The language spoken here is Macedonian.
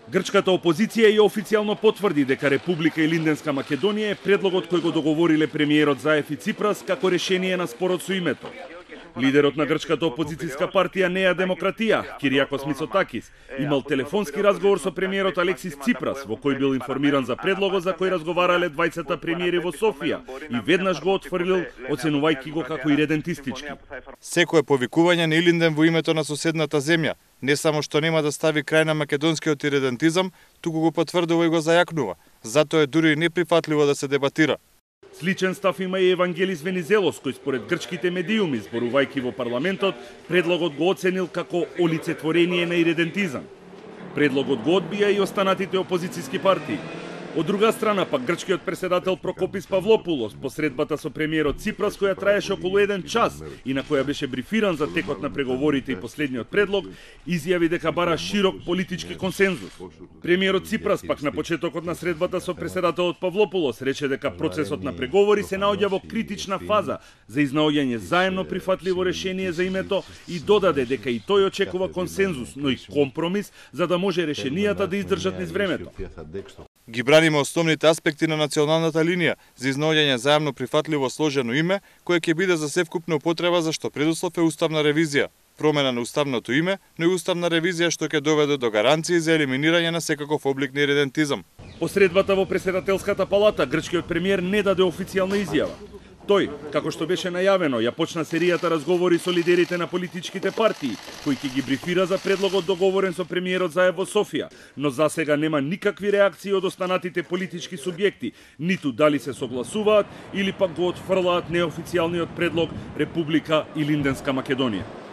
Грчката опозиција ја официјално потврди дека Република Илинденска Македонија е предлогот кој го договориле премиерот Заев и Ципрас како решение на спорот со името. Лидерот на грчката опозицијска партија Неа Демократија, Кириакос Мицотакис, имал телефонски разговор со премиерот Алексис Ципрас, во кој бил информиран за предлогот за кој разговарале двајцата премиери во Софија и веднаш го отфрлил, оценувајќи го како иредентистички. Секое повикување на Илинден во името на соседната земја не само што нема да стави крај на македонскиот иредентизам, туку го потврдува и го зајакнува. Затоа е дури неприфатливо да се дебатира. Сличен став има и Евангелис Венизелос, кој според грчките медиуми, зборувајќи во парламентот, предлогот го оценил како олицетворение на иредентизам. Предлогот го одбија и останатите опозицијски партии. Од друга страна, пак грчкиот преседател Прокопис Павлопулос, по средбата со премиерот Ципрас, која траеше околу 1 час и на која беше брифиран за текот на преговорите и последниот предлог, изјави дека бара широк политички консензус. Премиерот Ципрас пак на почетокот на средбата со преседателот Павлопулос рече дека процесот на преговори се наоѓа во критична фаза за изнаоѓање заемно прифатливо решение за името и додаде дека и тој очекува консензус, но и компромис за да може решенијата да издржат низ времето. Ги браниме основните аспекти на националната линија за изнаоѓање заемно прифатливо сложено име, кое ќе биде за севкупна употреба за што предуслов е уставна ревизија, промена на уставното име, но и уставна ревизија што ќе доведе до гаранции за елиминирање на секаков облик на иредентизам. По средбата во преседателската палата, грчкиот премиер не даде официјална изјава. Тој, како што беше најавено, ја почна серијата разговори со лидерите на политичките партии, кои ќе ги брифира за предлогот договорен со премиерот Заев во Софија, но засега нема никакви реакции од останатите политички субјекти, ниту дали се согласуваат или пак го отфрлаат неофицијалниот предлог Република Илинденска Македонија.